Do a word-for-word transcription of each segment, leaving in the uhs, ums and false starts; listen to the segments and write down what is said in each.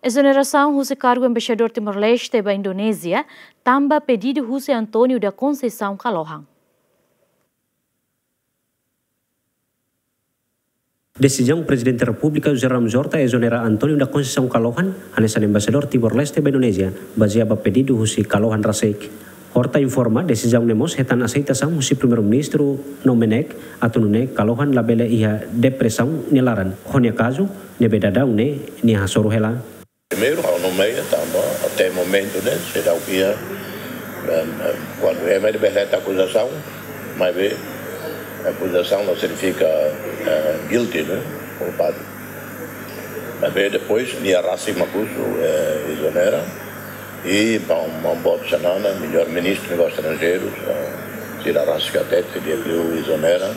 Ezonerasaun husi kargu embaixadór Timor-Leste ba Indonézia tanba pedidu husi António da Conceição Kalohan. Desizaun Prezidente Repúblika José Ramos Horta ezonera António da Conceição Kalohan hanesan embaixadór Timor-Leste ba Indonézia, bazeia ba pedidu husi Kalohan rasik. Horta informa desizaun ne'e mós hetan aseitasaun husi Primeiru-Ministru Domenech atu nune'e Kalohan labele iha depresaun nia laran, ho nia kazu ne'ebé daudaun ne'e nia hasoru hela. Primeiru, ha'u nomeia tanba até momentu ne'e seidauk iha, em, em, kuandu ema bele hetan akuzasaun, maibé akuzasaun la signifika, eh, guilty, ne'e, culpado. Maibé depois nia rasik mak husu, eh, ezonera, i maun, maun boot Xanana, melhor Ministru Negósius Estranjeirus, eh, sira rasik hatete katak ezonera,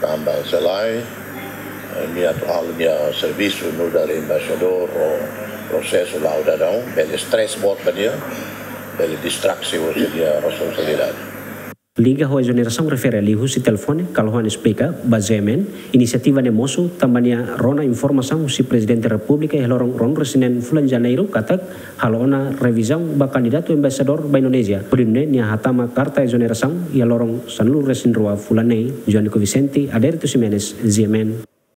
tanba se lae, eh, nia atu halo nia servisu nu'udar embaixadór ho prosesu la'o daudaun, bele stress boot ba nia, bele distraksi husi nia responsabilidade. Liga ho ezonerasaun refere liuhusi telefone, Kalohan esplika ba G M N, inisiativa ne'e mosu tanba nia rona informasaun husi Prezidente Repúblika iha loron ruanulu-resin-neen fulan Janeiru katak halo ona revizaun ba kandidatu embaixadór ba Indonézia. Hodi nune'e nia hatama karta ezonerasaun iha loron sanulu-resin-rua fulan ne'e. Joanico Vicente, Adérito Ximenes, G M N.